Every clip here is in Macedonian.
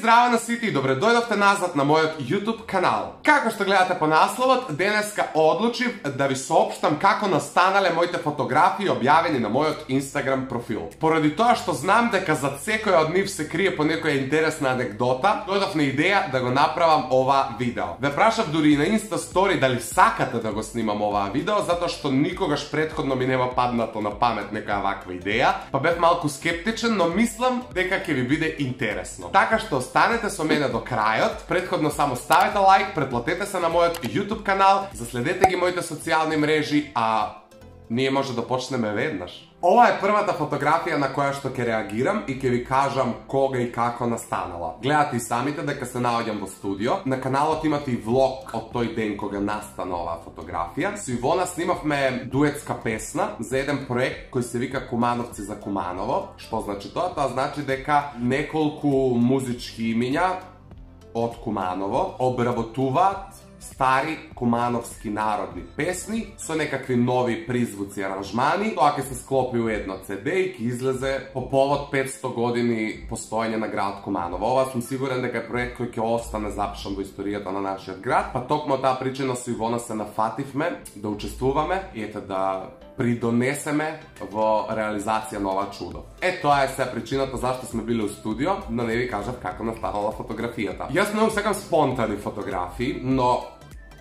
здраво на сите и добре дојдовте назад на мојот YouTube канал. Како што гледате по насловот, денеска одлучив да ви соопштам како настанале моите фотографии објавени на мојот Instagram профил. Поради тоа што знам дека зад секоја од нив се крие по некоја интересна анекдота, дојдов на идеја да го направам ова видео. Ве прашав дури и на Insta Story дали сакате да го снимам оваа видео, затоа што никогаш претходно ми нема паднато на памет некоја ваква идеја, па бев малку скептичен, но мислам дека ќе ви биде интересно. Така што останете со мене до крајот, претходно само ставете лайк, претплатете се на мојот YouTube канал, заследете ги моите социјални мрежи, а ние може да почнеме веднаш. Ова е првата фотографија на која што ќе реагирам и ќе ви кажам кога и како настанала. Гледате и самите дека се наоѓам во студио. На каналот имате и влог од тој ден кога настана оваа фотографија. Со Ивона снимавме дуетска песна за еден проект кој се вика Кумановци за Куманово. Што значи тоа? Тоа значи дека неколку музички имиња од Куманово обработуваат стари кумановски народни песни со некакви нови призвуци и аранжмани. Тоа ќе се склопи у едно CD и ќе излезе по повод 500 години постоење на градот Куманово. Ова сум сигурен дека е проект кој ќе остане запишан во историјата на нашиот град, па токму таа причина со Ивона се нафативме да учествуваме и ете да придонесеме во реализација на ова чудо. Тоа е се причината зашто сме биле у студио, но не ви кажав како настанала фотографијата. Јас многу сакам спонтани фотографии, но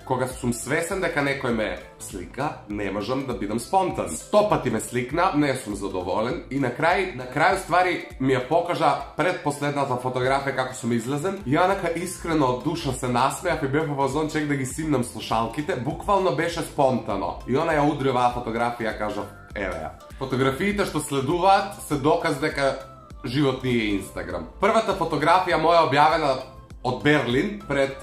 кога сум свесен дека некој ме слика, не можам да бидам спонтан. 100 пати ме сликна, не сум задоволен и на крај ствари ми ја покажа пред последната фотографија како сум излезен. Јанака искрено од душа се насмеав и бев во фазон чек да ги симнам слушалките, буквално беше спонтано. И она ја удри оваа фотографија, кажав, еве ја. Фотографиите што следуваат се доказ дека живот ни е Инстаграм. Првата фотографија моја објавена од Берлин пред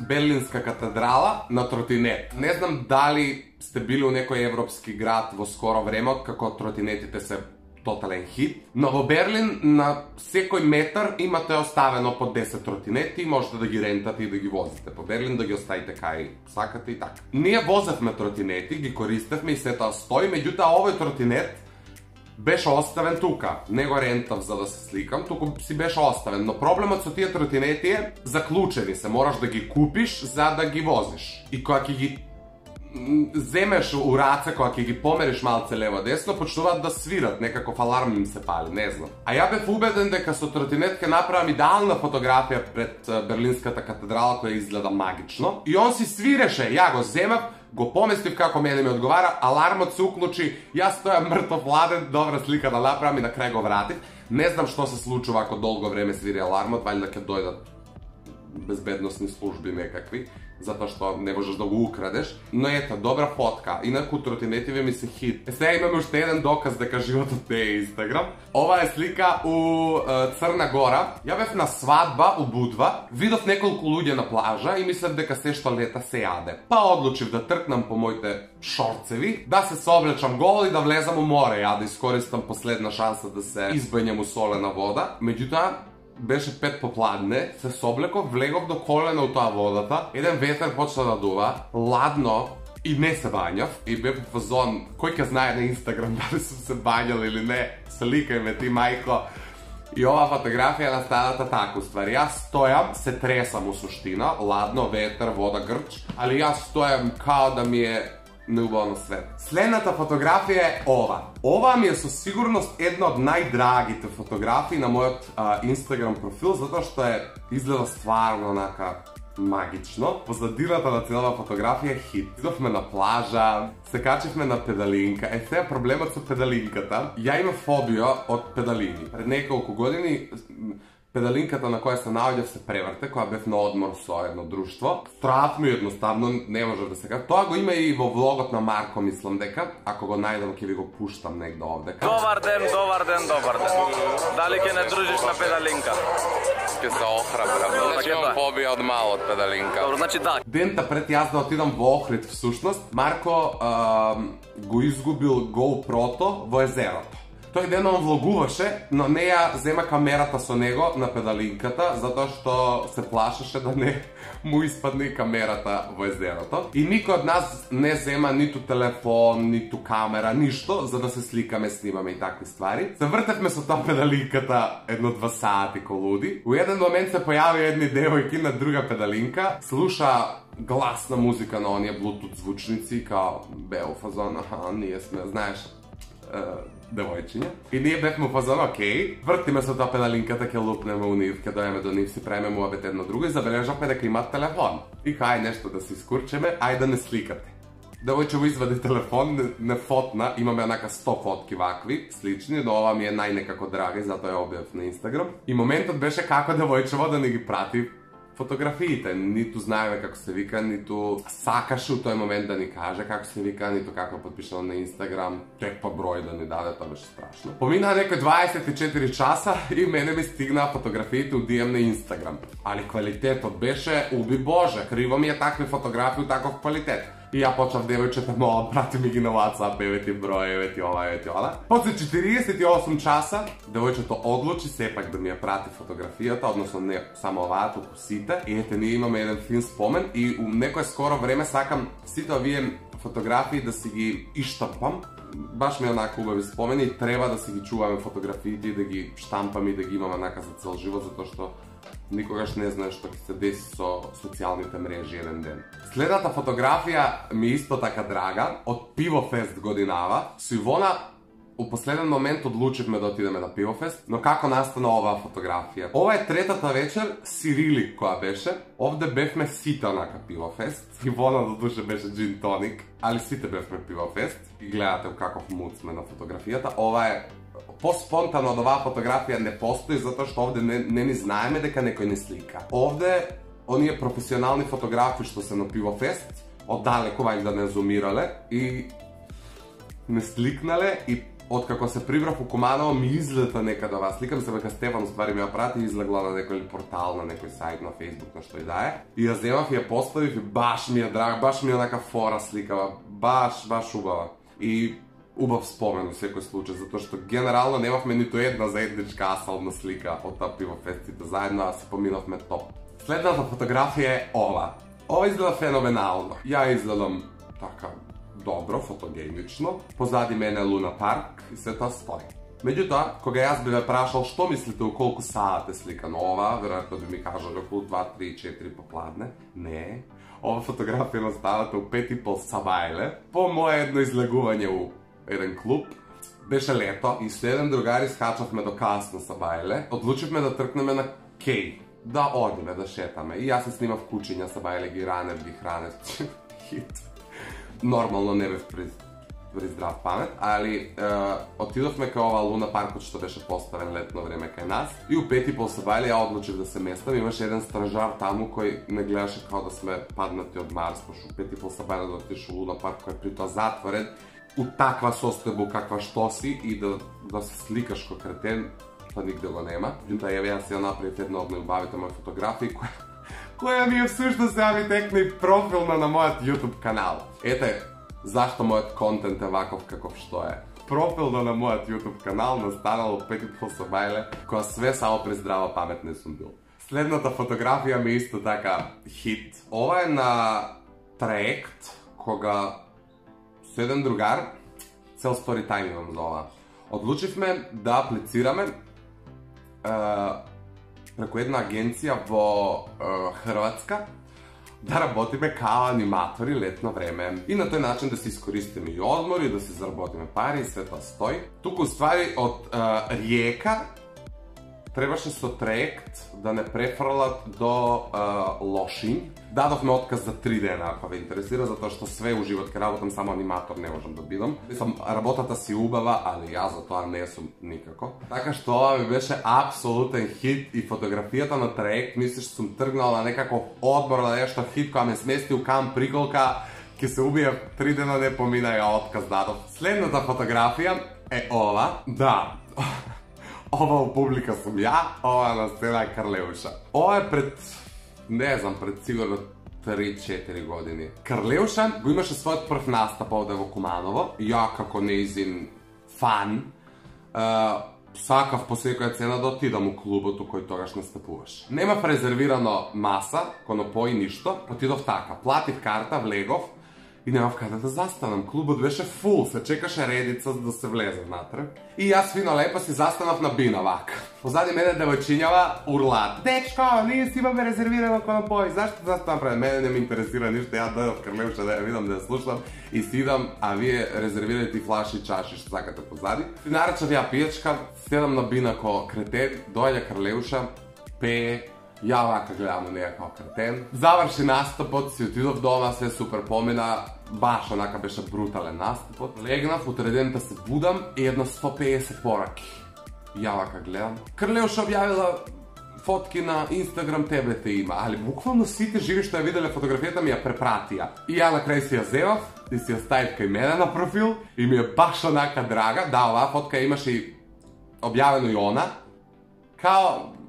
Берлинска катедрала на тротинет. Не знам дали сте били у некој европски град во скоро време, како тротинетите се тотален хит, но во Берлин на секој метар имате оставено по 10 тротинети и можете да ги рентате и да ги возите по Берлин, да ги оставите кај сакате и така. Ние возевме тротинети, ги користевме и се тоа стои, меѓутоа овој тротинет беше оставен тука. Не го рентав за да се сликам, туку си беше оставен. Но проблемот со тие тротинети е заклучени се, мораш да ги купиш за да ги возиш. И кога ќе ги земеш у раце, кога ќе ги помериш малце лево-десно, почнуваат да свират, некаков аларм им се пали, не знам. А ја бев убеден дека со тротинет ќе направам идеална фотографија пред Берлинската катедрала која изгледа магично. И он си свиреше, ја го земав, го поместив како мене ми одговара, алармот се уклучи, јас стојам мртов ладен, добра слика да направам и на крај го вратив. Не знам што се случува ако долго време свири алармот, валјда ќе дојдат безбедносни служби некакви, затоа што не можеш да го украдеш. Но ето, добра фотка. Инаку тротинетиве ми се хит. Сега имаме уште еден доказ дека животот не е Инстаграм. Ова е слика у Црна Гора. Ја бев на свадба у Будва, видов неколку луѓе на плажа и мислев дека се што лета се јаде. Па одлучив да тркнам по моите шорцеви, да се соблечам гол и да влезам у море, ја да искористам последна шанса да се избањам у солена вода. Меѓутоа, беше 5 попладне, се соблеков, влегов до колена у тоа водата, еден ветер почна да дува, ладно и не се бањав и бев во фазон, кој ќе знае на Инстаграм дали сум се бањал или не, сликај ме ти мајко. И ова фотографија настаната така, ствари, јас стојам, се тресам у суштина, ладно, ветер, вода, грч, али јас стојам као да ми е неубаво на свет. Следната фотографија е ова. Ова ми е со сигурност една од најдрагите фотографии на мојот Instagram профил, затоа што изгледа стварно онака магично. Позадината на целава фотографија е хит. Идовме на плажа, се качивме на педалинка. Сега проблемот со педалинката, ја имам фобија од педалини. Пред неколку години педалинката на која се наоѓав се преврте, која бев на одмор со едно друштво. Стравме едноставно, не може да се кажа. Тоа го има и во влогот на Марко, мислам дека. Ако го најдам, ќе ви го пуштам негде овдека. Добар ден, добар ден, добар ден. Дали ќе не дружиш на педалинка? Ќе се охрабрам. Значи имам фобија од мало од педалинка. Добро, значи да. Дента пред јас да отидам во Охрид, всушност, Марко го изгубил GoPro-то во езерото. Тој ден он влогуваше, но не ја зема камерата со него на педалинката, затоа што се плашеше да не му испадне камерата во езерото. И никој од нас не зема ниту телефон, ниту камера, ништо, за да се сликаме, снимаме и такви ствари. Се вртевме со таа педалинката 1-2 сати ко луди. У еден момент се појави едни девојки на друга педалинка, слуша гласна музика на оние Bluetooth звучници, као бео фазон, ние сме, знаеш, девојчиња. И ние бевме у фазон, окей, вртиме со таа педалинката, ќе лупнеме у нив, ќе дојаме до нив, си правиме муабет едно друго и забележавме дека имаат телефон. И кај нешто да се искурчеме, ај да не сликате. Девојче извади телефон, не фотна, имаме онака 100 фотки вакви, слични, но ова ми е најнекако драга и затоа ја објавив на Инстаграм. И моментот беше како девојчево да не ги прати фотографиите, ниту знаеме како се вика, ниту сакаше у тој момент да ни каже како се вика, ниту како подпишано на Инстаграм, тек па број да ни даде, тоа беше страшно. Поминаа некои 24 часа и мене ми стигнаа фотографиите у DM на Инстаграм. Али квалитетот беше, уби Боже, криво ми е такви фотографии у таков квалитет. И ја почнав девојчета моја, прати ми ги на WhatsApp, евети број, евети ова, евети ова. После 48 часа, девојчето одлучи сепак да ми ја прати фотографијата, односно не само оваа, туку сите. И ете, ние имаме еден фин спомен и у некое скоро време сакам сите овие фотографии да си ги иштампам. Баш ми е онака убави спомени и треба да си ги чуваме фотографиите и да ги штампам и да ги имаме онака за цел живот, затоа што никогаш не знаеш што ќе се деси со социјалните мрежи еден ден. Следната фотографија ми исто така драга, од Пивофест годинава. Со Ивона у последен момент одлучивме да отидеме на Пивофест, но како настана оваа фотографија? Ова е третата вечер, Сирили која беше. Овде бевме сите онака Пивофест. Ивона до душе беше джин тоник, али сите бевме Пивофест. И гледате у каков муд сме на фотографијата. Ова е по-спонтано од оваа фотографија не постои, затоа што овде не ни знаеме дека некој не слика. Овде, оние професионални фотографи што се на Пивофест, оддалеку вајда не зумирале и не сликнале и откако се прибрав у Куманово ми излета некаде оваа слика, ми се века Стефан уствари ми ја прати и излегла на некој портал, на некој сајт, на Facebook, на што и да е. И ја земав и ја поставив и баш ми е драг, баш ми е онака фора сликава, баш убава. И убав спомен у секој случај, затоа што генерално немавме ниту една заедничка асална слика од таа Пивофестите заедно, а се поминавме топ. Следната фотографија е ова. Ова изгледа феноменално. Ја изгледам така добро, фотогенично. Позади мене Луна парк и се тоа стои. Меѓутоа, кога јас би ве прашал што мислите у колку саат е сликано ова, веројатно би ми кажали околу 2, 3, 4 попладне. Не. Ова фотографија наставата у 5:30 сабајле. По моје едно излегување у еден клуб. Беше лето и со еден другари скачавме до касно сабајле. Одлучивме да тркнеме на кеј. Да одиме, да шетаме. И јас се снимав кучиња сабајле, ги ранев, ги хранев. Хит. Нормално не бев при здрав памет, али отидовме кај ова Луна паркот што беше поставен летно време кај нас. И у 5:30 сабајле ја одлучив да се местам. Имаше еден стражар таму кој не гледаше као да сме паднати од Марс, пошто у 5:30 сабајле да отидеш у Луна парк кој е при тоа затворен у таква состојба каква што си и да се сликаш ко кретен, тоа нигде го нема. Јута еве јас ја направив една од најубавите мои фотографии која ми е всушност ја ми текне и профилна на мојот YouTube канал. Ете зашто мојот контент е ваков каков што е. Профилна на мојот YouTube канал настанало 5:30 сабајле, која све само при здрава памет не сум бил. Следната фотографија ми исто така хит. Ова е на траект кога со еден другар, цел story time имам за ова. Одлучивме да аплицираме преку една агенција во Хрватска да работиме као аниматори летно време. И на тој начин да се искористиме и одмори, да се заработиме пари и све тоа стои. Туку ствари од Риека требаше со траект да не префрлат до Лошињ. Дадовме отказ за 3 дена, ако ве интересира, затоа што све у живот ке работам, само аниматор не можам да бидам. Мислам, работата си убава, али јас за тоа не сум никако. Така што ова ми беше апсолутен хит и фотографијата на траект, мислиш, сум тргнал на некаков одмор на нешто хит, која ме смести у Камп Приголка, ке се убија 3 дена не помина, ја отказ дадов. Следната фотографија е ова. Да. Ова у публика сум ја, ова на сцена е Карлеуша. Ова е пред, не знам, пред сигурно 3-4 години. Карлеуша го имаше својот прв настап овде во Куманово. Ја како неизин фан сакав по секоја цена да отидам у клубот у кој тогаш настапуваш. Немав резервирано маса, конопои, ништо, отидов така, платив карта, влегов и немав каде да застанам. Клубот беше фул, се чекаше редица да се влезе внатре. И јас фино лепо си застанав на бина вака. Позади мене девојчињава урлаат: "Дечко, ние си имаме резервирано конопои, зашто застанам пред мене, не ме интересира ништо, ја дојдов Крлевча да ја видам, да ја слушам и си идам, а вие резервирате и флаши и чаши што сакате позади." И наречав ја пијачка, седам на бина ко кретен, доаѓа Крлевша, пее, ја вака гледам на неја као кретен. Заврши настапот, си отидов дома, све супер помина, баш онака беше брутален настапот. Легнав, утреден да се будам и едно 150 пораки. Ја вака гледам. Крлевша објавила фотки на Инстаграм, тебе те има, али буквално сите живи што ја виделе фотографијата ми ја препратија. И ја на крај си ја зевав и си ја ставив кај мене на профил и ми е баш онака драга. Да, оваа фотка имаше и објавено и она. Као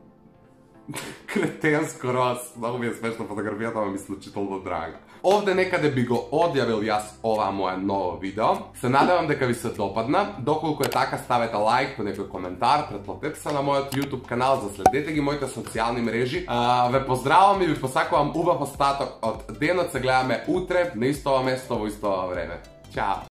кретенско роз, многу ми е смешно фотографијата, ама ми случително драга. Овде некаде би го одјавил јас оваа моја ново видео. Се надевам дека ви се допадна. Доколку е така, ставете лайк по некој коментар, претплатете се на мојот YouTube канал, заследете ги моите социјални мрежи. Ве поздравам и ви посакувам убав остаток од денот. Се гледаме утре на исто место во исто време. Чао!